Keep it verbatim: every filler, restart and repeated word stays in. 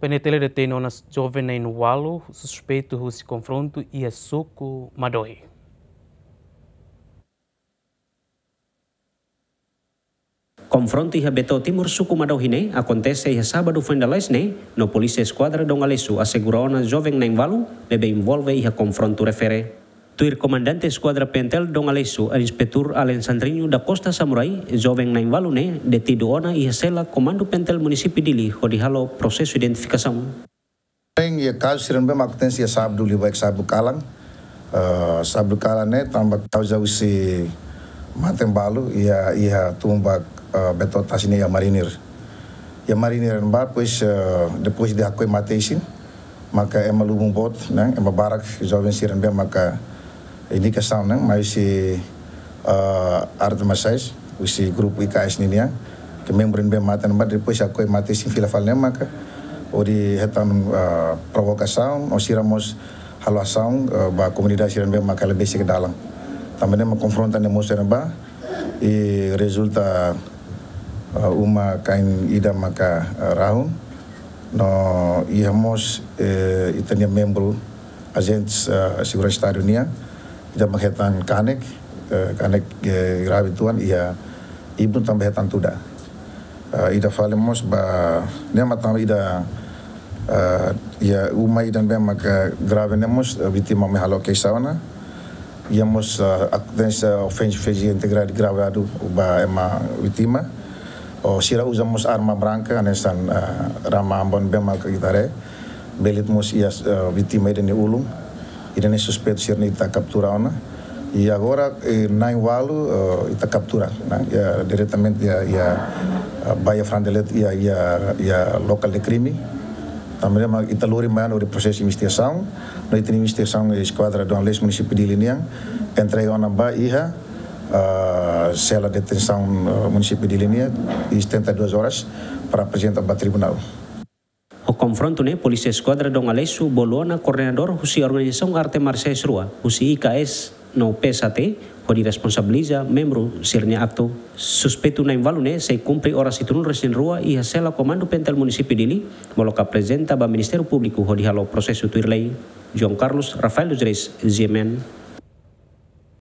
P N T L detein ona joven na'in-ualu suspeitu husi konfrontu iha suku Madohi. Konfrontu iha Beto Timur, suku Madohi ne'e akontese iha sábadu foin lalais ne'e, no Polísia Eskuadra Dom Aleixo asegura ona joven na'in-ualu ne'ebé envolve iha konfrontu refere. Tuir Komandante Eskuadra P N T L Dom Aleixo, Inspetór Alexandrinho da Costa Samurai, joven na'in-ualu ne'e detidu ona iha sela Komandu P N T L Munisípiu Dili hodi halo prosesu identifikasaun. Bem, iha kazu sira ne'ebé mak akontese iha sábadu liubá, sábadu kalan. Eh, sábadu kalan ne'e tanba kauza husi mate balu iha, iha tumba, eh, Beto Tasi ne'e iha Marinir. Iha Marinir ne'ebá, depois, eh, depois de hakoi mate isin, maka ema lubun boot, ne'e, ema barak, joven sira ne'ebé maka indikasaun, ne'e, mai husi, eh, arte marsiais, husi grupu I K S ninian, ke membru ne'ebé mate ne'ebá, depois hakoi mate isin fila fali ne'e maka hodi hetan, eh, provokasaun, no sira mós halo asaun, eh, ba komunidade sira ne'ebé maka hela besik dalan. Tanba ne'e mak konfronta ne'e mosu iha ne'ebá, i rezulta, eh, uma kain ida maka, eh, rahun, no iha mós, eh, ita-nia membru ajente, eh, seguransa estadu nian, ida mak hetan kanek, eh, kanek, eh, grave uitoan, iha ibun tanba hetan tuda. Eh, ida fali mós ba, ne'e mak tanba ida, eh, iha uma ida ne'ebé maka grave ne'e mós, eh, vítima mai halo keixa ona. Iha mós, eh, akontese ofensa fízika integridade grave adu ba ema vítima. Ou sira uza mós arma branka, hanesan, eh, rama ambon ne'ebé maka ita haree. Bele mós iha, eh, vítima ida nia ulun. Ida-ne'e suspeitu sira-ne'e ita kaptura ona. I agora, eh, na'in-ualu, eh, ita kaptura, ne'e, iha diretamente iha, iha, eh, ba iha frente de'it iha, iha, iha lokál de krime. Tanba ne'e mak ita lori mai ona hodi prosesu investigasaun. No ita-nia investigasaun, eh, Eskuadra Dom Aleixo Munisípiu Dili nian entrega ona ba iha, eh, sela detensaun, eh, Munisípiu Dili nian, iha setenta e duas horas para aprezenta ba tribunál. Ho konfrontu ne'e, Polísia Eskuadra Dom Aleixo bolu ona koordenadór husi organizasaun arte marsiais rua, husi I K S no P S H T, hodi responsabiliza membru sira-nia aktu. Suspeitu na'in-ualu ne'e sei kumpre oras hitunulu resin rua iha sela Komandu P N T L Munisípiu Dili, molok aprezenta ba Ministériu Públiku hodi halo prosesu tuir lei. João Carlos Rafael dos Reis, G M N.